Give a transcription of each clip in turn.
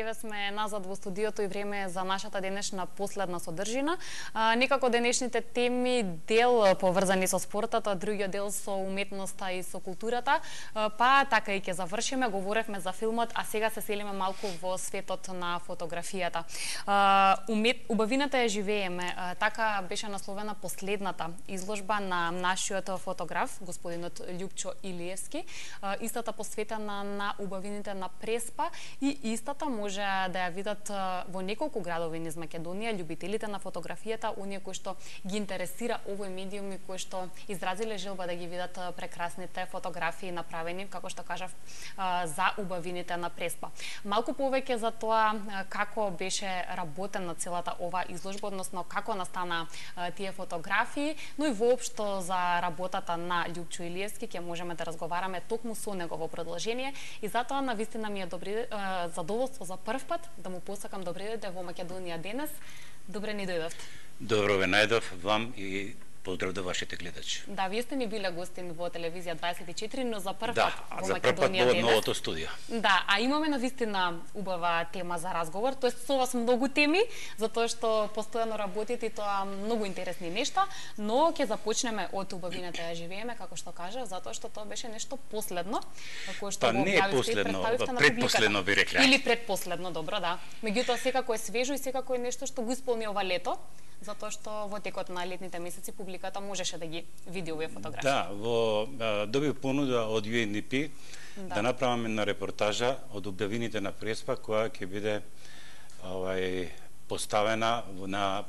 Еве сме назад во студиото и време е за нашата денешна последна содржина. Некако денешните теми дел поврзани со спортот, а другиот дел со уметноста и со културата. Па така и ќе завршиме, говоревме за филмот, а сега се селиме малку во светот на фотографијата. Убавината ја живееме. Така беше насловена последната изложба на нашиот фотограф, господинот Љупчо Илиевски. Истата посветена на убавините на Преспа и истата може да ја видат во неколку градови низ Македонија љубителите на фотографијата, оние кои што ги интересира овој медиум и кои што изразиле желба да ги видат прекрасните фотографии направени, како што кажав, за убавините на Преспа. Малку повеќе за тоа како беше работена целата ова изложба, односно како настана тие фотографии, но и воопшто за работата на Љупчо Илиевски ќе можеме да разговараме токму со негово продолжение и затоа навистина ми е задоволство за прв пат да му посакам добре дојде во Македонија денес. Добре ни дојдовте. Добро ве најдов вам и поздрав до вашите гледачи. Да, вие сте ми биле гостин во телевизија 24, но за прв пат во за Македонија денес. Во новото студио. Да, а имаме навистина убава тема за разговор, тоест со вас многу теми, затоа што постојано работите и тоа многу интересни нешта, но ќе започнеме од убавината ја живееме, како што кажа, затоа што тоа беше нешто последно, кое што го објавивте и представивте на предпоследно би рекле. Или предпоследно, добро, да. Меѓутоа секако е свежо и секако е нешто што го исполни ова лето, затоа што во текот на летните месеци публиката можеше да ги види овие фотографии. Да, добив понуда од UNDP да направам една репортажа од убавините на Преспа која ќе биде поставена на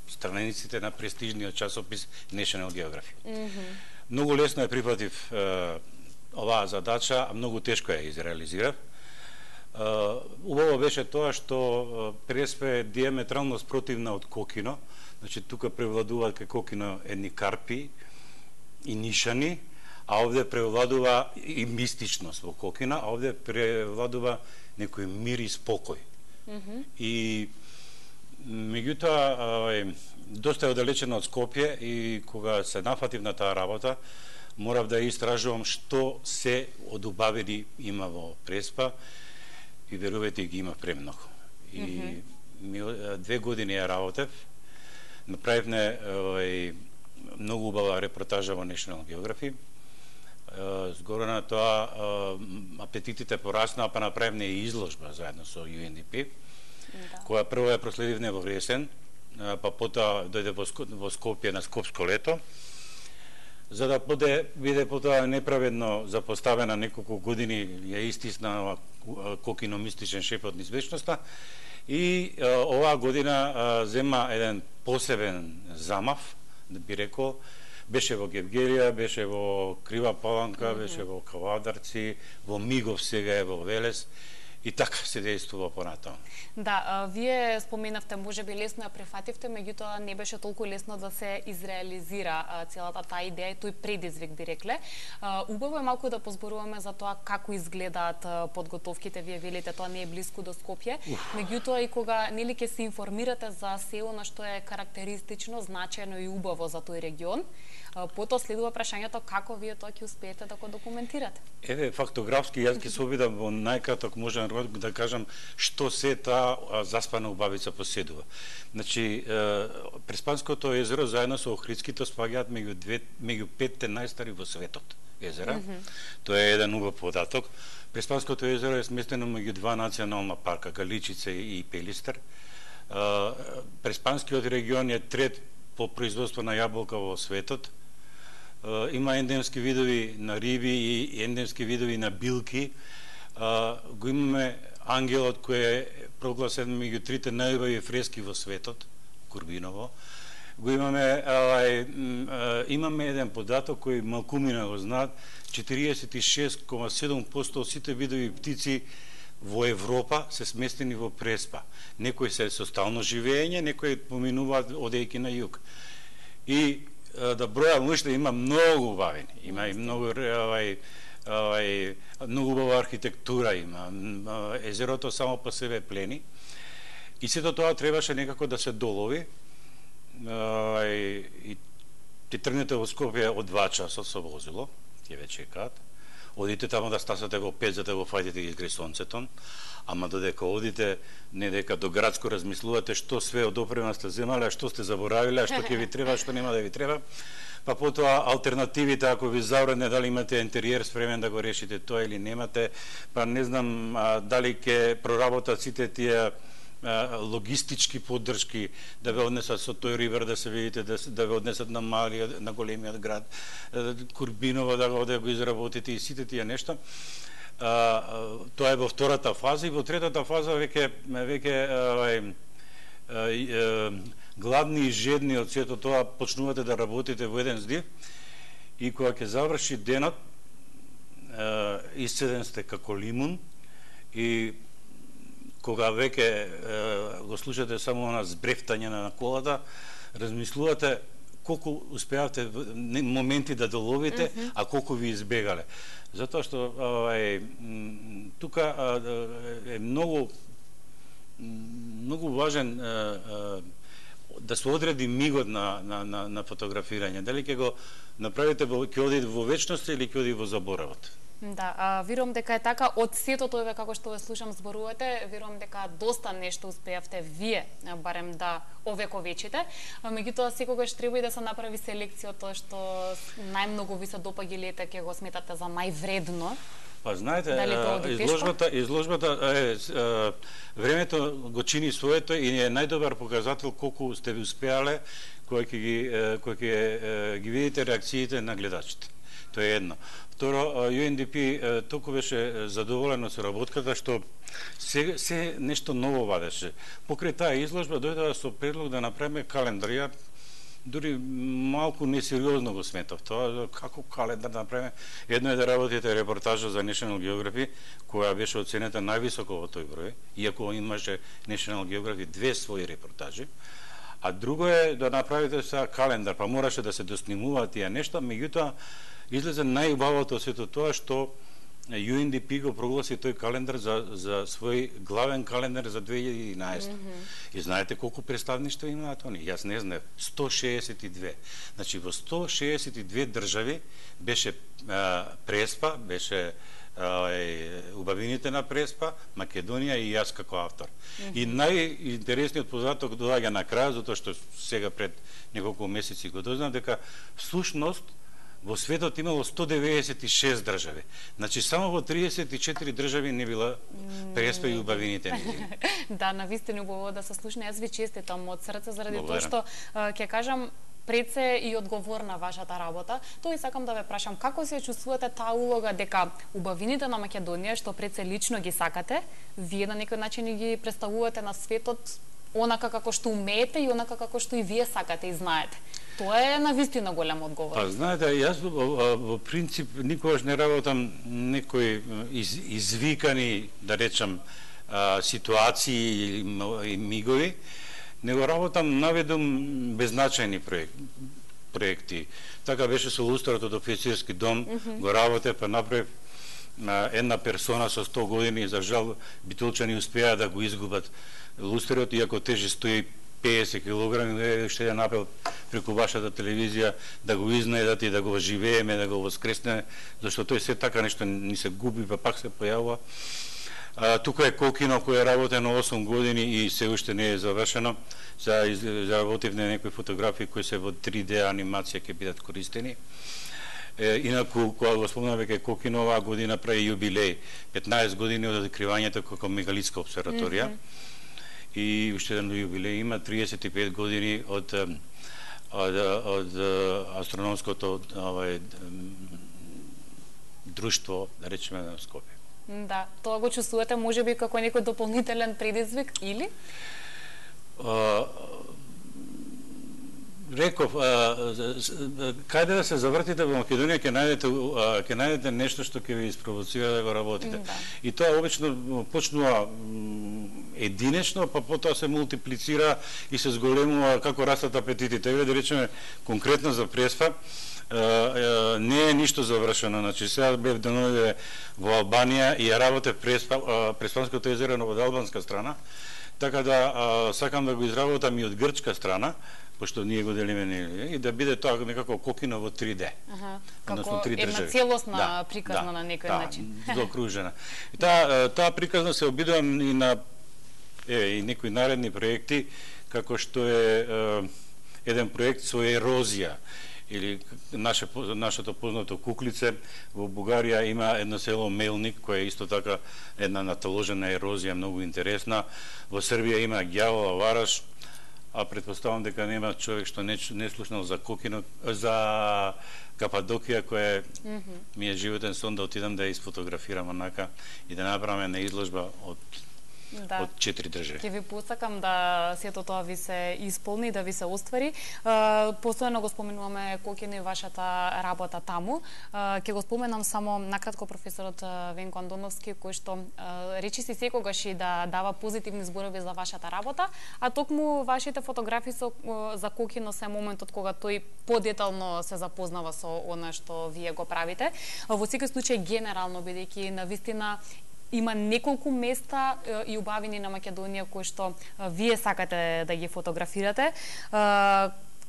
страниците на престижниот часопис National Geographic. Многу лесно ја прифатив оваа задача, а многу тешко ја изреализирав. Убаво беше тоа што Преспа е диаметрално спротивна од Кокино. Значи, тука превладуваат кај Кокино едни карпи и нишани, а овде превладува и мистичност во Кокина, а овде превладува некој мир и спокој. И меѓутоа, доста е оддалечено од Скопје и кога се нафатив на таа работа, морав да истражувам што се од убавини има во Преспа и верувате ги има премногу. И 2 години ја работев, направивме многу убава репортажа во National Geographic. Згоре на тоа апетитите пораснаа, па направивме и изложба заедно со UNDP, која прво ја проследивме во есен, па потоа дојде во Скопје на Скопско лето, за да биде потоа неправедно запоставена неколку години, ја истисна Кокино мистичен шепот низ вечноста, и оваа година зема еден посебен замав, да би рекол, беше во Гевгелија, беше во Крива Паланка, беше во Кавадарци, во Мигов сега е во Велес, и така се действува понатаму. Да, вие споменавте, можеби лесно ја префативте, меѓутоа не беше толку лесно да се изреализира целата таа идеја и тој предизвик, би рекле. Убаво е малку да позборуваме за тоа како изгледаат подготовките, вие велите тоа не е блиску до Скопје, меѓутоа и кога нели ќе се информирате за се она што е карактеристично, значајно и убаво за тој регион, потоа следува прашањето како вие тоа ќе успеете да го документирате. Еве, фактографски јас ќе се обидам во најкраток можен да кажам што се таа заспана убавица поседува. Значи, Преспанското езеро заедно со Охридското спаѓаат меѓу 5 најстари во светот езера. Тоа е еден убав податок. Преспанското езеро е сместено меѓу 2 национална парка, Галичица и Пелистер. Преспанскиот регион е трет по производство на јаболка во светот. Има ендемски видови на риби и ендемски видови на билки. Го имаме ангелот кој е прогласен меѓу 3 најубави фрески во светот, Курбиново. Го имаме еден податок кој малкумина го знаат, 46,7% од сите видови птици во Европа се сместени во Преспа. Некои се со стално живење, некои поминуваат одејќи на југ. И да бројам уште, има многу убавени, има и многу многу убава архитектура има. Езерото само по себе плени. И сето тоа требаше некако да се долови. И ти тргнете во Скопје од 2 часа со возило, ќе ве чекаат. одите таму да стасате во 5 за да го фаќате и изгре сонцето, ама додека одите, не дека до градско размислувате што све од опрема сте земале, а што сте заборавиле, а што ќе ви треба, што нема да ви треба. Па потоа алтернативите, ако ви завредне, дали имате интериер спремен да го решите тоа или немате, па не знам дали ќе проработат сите тие логистички поддршки да ве однесат со тој ривер да се видите, да ве однесат на малиот, на големиот град, Курбиново да го изработите и сите тие нешта. Тоа е во втората фаза и во третата фаза веќе гладни и жедни од сето тоа почнувате да работите во еден здив и кога ќе заврши денот исцеден сте како лимун и кога веќе го слушате само на збрефтање на колата, размислувате колку успеавте моменти да доловите, а колку ви избегале. Затоа што тука е многу важен да се одреди мигот на фотографирање. Дали ќе го направите, ќе оди во вечност или ќе оди во заборавот? Да, верувам дека е така. Од сето тоа како што ве слушам зборувате, верувам дека доста нешто успеавте вие барем да овековечите. Меѓутоа секогаш треба и да се направи селекција од тоа што најмногу ви се допаѓа или ќе го сметате за највредно. Па знаете, изложбата времето го чини своето и е најдобар показател колку сте ви успеале кога ќе ги видите реакциите на гледачите. Тоа е едно. Второ, UNDP толку беше задоволено со работката што се нешто ново вадеше. Покрај таа изложба дојдоа со предлог да направиме календар. Ја дури малку несериозно го сметав тоа, како календар да направиме. Едно е да работите репортажа за National Geography, која беше оценета највисоко во тој број, иако имаше National Geography 2 своји репортажи. А друго е да направите са календар, па мораше да се доснимуваат тие нешта, меѓутоа излезе најубавото од сето тоа што UNDP го прогласи тој календар за свој главен календар за 2011. И знаете колку представништва имаат они? Јас не знам, 162. Значи во 162 држави беше Преспа, беше убавините на Преспа, Македонија и јас како автор. И најинтересниот податок доаѓа на крај, затоа што сега пред неколку месеци го дознав дека всушност во светот имало 196 држави. Значи само во 34 држави не била Преспа и убавините нејзини. Да, навистина убаво да се слушне. Јас ви честитам од срце заради тоа што ќе кажам пред се и одговорна вашата работа. Тоа и сакам да ве прашам како се чувствувате таа улога дека убавините на Македонија што пред се лично ги сакате, вие на некој начин ги представувате на светот онака како што умеете и онака како што и вие сакате и знаете. Тоа е навистина голема одговорност. Па знаете, јас во принцип никогаш не работам некои извикани, да речам, ситуации и мигови, него работам наведом беззначајни проекти. Така беше со лустрото до офицерски дом, го работе, па направив една персона со 100 години, за жал битолчани успеа да го изгубат лустрот, иако тежи 150 кг, ще ја напел преку вашата телевизија да го изнајдат и да го живееме, да го воскресне, зашто тој се така нешто ни се губи, па пак се појавува. Тука е Кокино кој е работено 8 години и се уште не е завршено. Заработивме некои фотографии кои се во 3D анимација ќе бидат користени. Инаку, кога го спомнам веќе Кокино, оваа година прави јубилеј, 15 години од откривањето како мегалитска обсерваторија. И уште еден јубилеј има 35 години од астрономското друштво, да речеме, на Скопје. Да, тоа го чувствувате можеби како некој дополнителен предизвик или? Реков, каде да се завртите во Македонија ќе најдете нешто што ќе ви испровоцира да го работите. Да. И тоа обично почнува единечно, па потоа се мултиплицира и се зголемува како растат апетитите. Еве да речеме конкретно за Преспа, не е ништо завршено. Значи сега бев деновиве во Албанија и ја работев Преспанското езеро од албанска страна, Така да сакам да го изработам и од грчка страна, пошто ние го делиме и да биде тоа некако Кокино во 3D. Како една целосна приказна на некој начин. Да, заокружена. И таа приказна се обидувам и на и некои наредни проекти, како што е еден проект со ерозија, или нашето познато Куклице. Во Бугарија има едно село Мелник, кој е исто така една наталожена ерозија, многу интересна. Во Србија има Ѓавола Вараш, а претпоставам дека нема човек што не слушнал за Кокино, за Кападокија, која ми е животен сон да отидам да ја изфотографирам онака и да направиме една изложба од 4 држави. Ќе ви посакам да сето тоа ви се исполни, да ви се оствари. Постојано го споменуваме Кокино и вашата работа таму. Ќе го споменам само накратко професорот Венко Андоновски, кој што речиси секогаш и да дава позитивни зборови за вашата работа, а токму вашите фотографии за Кокино се моментот кога тој подетално се запознава со она што вие го правите. Во секој случај генерално, бидејќи навистина има неколку места и убавини на Македонија кои што вие сакате да ги фотографирате.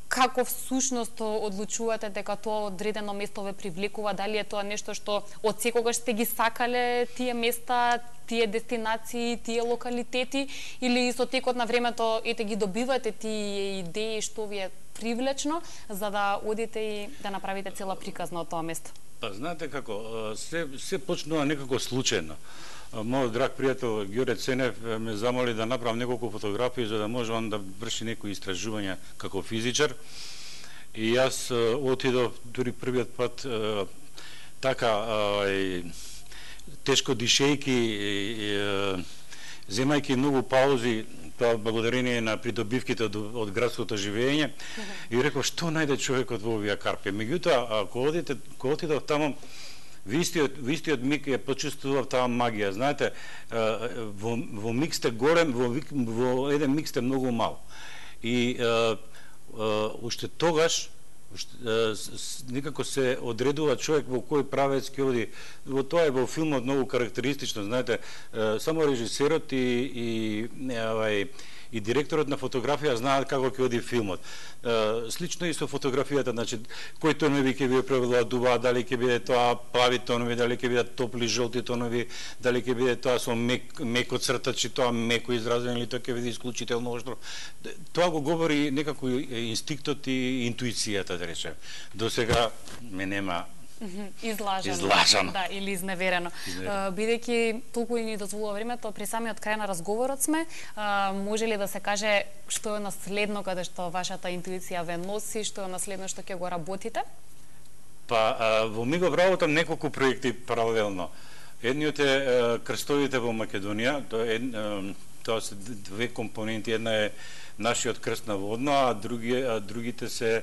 Како всушност одлучувате дека тоа одредено место ве привлекува? Дали е тоа нешто што од секогаш сте ги сакале тие места, тие дестинации, тие локалитети, или со текот на времето ги добивате тие идеи што ви е привлечно за да одите и да направите цела приказна од тоа место? Па знаете како, се почнува некако случајно. Мојот драг пријател Ѓоре Ценев ме замоли да направам неколку фотографии за да може он да врши некои истражувања како физичар. И јас отидов дури првиот пат така тешко дишејки, земајќи многу паузи, тоа благодарение на придобивките од градското живење, и реков што најде човекот во овие карпи. Меѓутоа, кога отидов таму, во истиот миг ја почувствував таа магија. Знаете, во миг сте голем, во еден миг сте многу мал. И уште тогаш некако се одредува човек во кој правец ќе оди. Во тоа е во филмот многу карактеристично, знаете, само режисерот и директорот на фотографија знаат како ќе оди филмот. Слично и со фотографијата, значи, кои тонови ќе ви превладуваат, дали ќе биде тоа плави тонови, дали ќе бидат топли жолти тонови, дали ќе биде тоа со меко цртачи, тоа меко изразено, или тоа ќе биде исклучително оштро. Тоа го говори некако инстинктот и интуицијата, да речем. До сега ме нема излажано. Да, или изневерено. Бидејќи толку и ни дозволува времето, при самиот крај на разговорот сме, може ли да се каже што е наследно каде што вашата интуиција ве носи, што е наследно што ќе го работите? Па, во мигов работам неколку проекти паралелно. Едниот е крстовите во Македонија, тоа се две компоненти, една е нашиот крст на водно, а другите се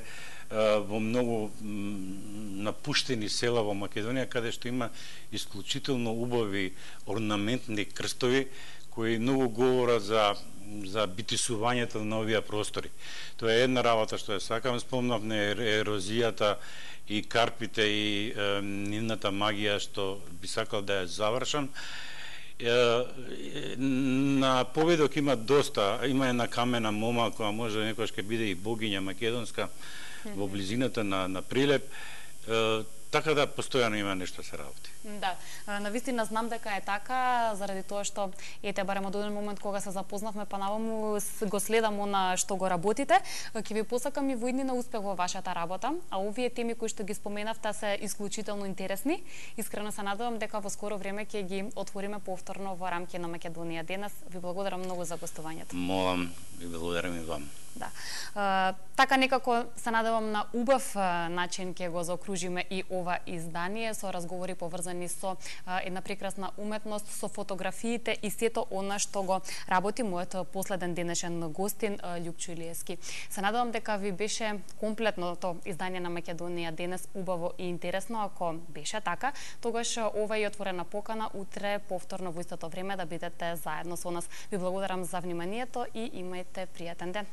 во многу напуштени села во Македонија, каде што има исклучително убави орнаментни крстови, кои многу говорат за битисувањето на овие простори. Тоа е една работа што ја сакам, спомнав на ерозијата и карпите и нивната магија што би сакал да ја завршам. На поведок има доста, има една камена мома која може некојаш ќе биде и богиња македонска во близината на Прилеп, така да постојано има нешто се работи. Да, навистина знам дека е така, заради тоа што барем од еден момент кога се запознавме, па наваму го следам она што го работите. Ќе ви посакам и во иднина успех во вашата работа, а овие теми кои што ги споменавте се исклучително интересни. Искрено се надевам дека во скоро време ќе ги отвориме повторно во рамки на Македонија денес. Ви благодарам многу за гостувањето. Молам, ви благодарам и вам. Да. Така некако се надевам на убав начин ќе го заокружиме и ова издание со разговори поврзани со една прекрасна уметност, со фотографиите и сето она што го работи мојот последен денешен гостин Љупчо Илиевски. Се надевам дека ви беше комплетното издание на Македонија денес убаво и интересно. Ако беше така, тогаш ова е отворена покана утре повторно во истото време да бидете заедно со нас. Ви благодарам за вниманието и имајте пријатен ден.